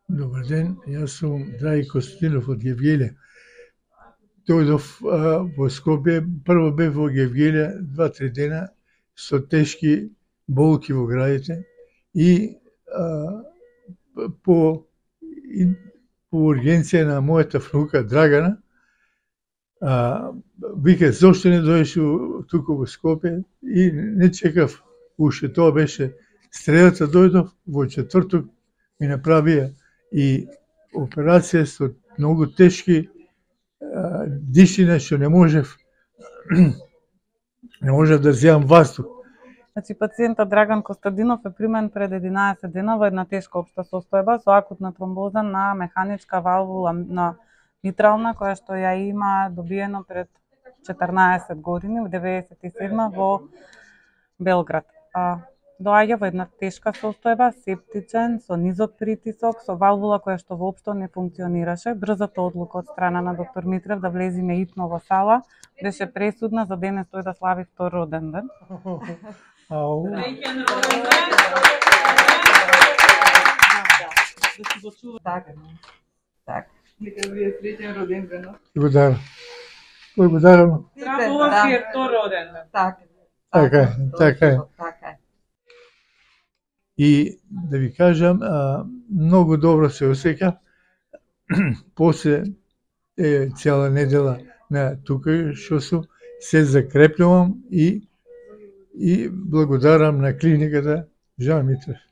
Добар ден, јас сум Драги Костинов од Гевгелија. Дојдов во Скопје, прво бев во Гевгелија 2-3 дена со тешки болки во градите и по ургенција на мојата внука Драгана, вика зошто не дојдеш туку во Скопје и не чекав уште, тоа беше средата, дојдов во четврток ми направија и операција со многу тешки дишина што не можев да земам воздух. Значи, пациентот Драган Костадинов е примен пред 11 дена во една тешка општа состојба со акутна тромбоза на механичка валвула на митрална, која што ја има добиено пред 14 години, во 97 во Белград. Доаѓа во една тешка состојба, септичен, со низок притисок, со валвула која што воопшто не функционираше. Брзата одлука од страна на доктор Митрев да влезиме итно во сала беше пресудна за денес тој да слави втор роден ден. Така. Нека ви е среќен роден ден. Благодарам. Ова си е втор роден ден. Така е. И да ви кажам, многу добро се осеќав. После цела недела на тука што сум, се закрепнувам и благодарам на клиниката Жан Митрев.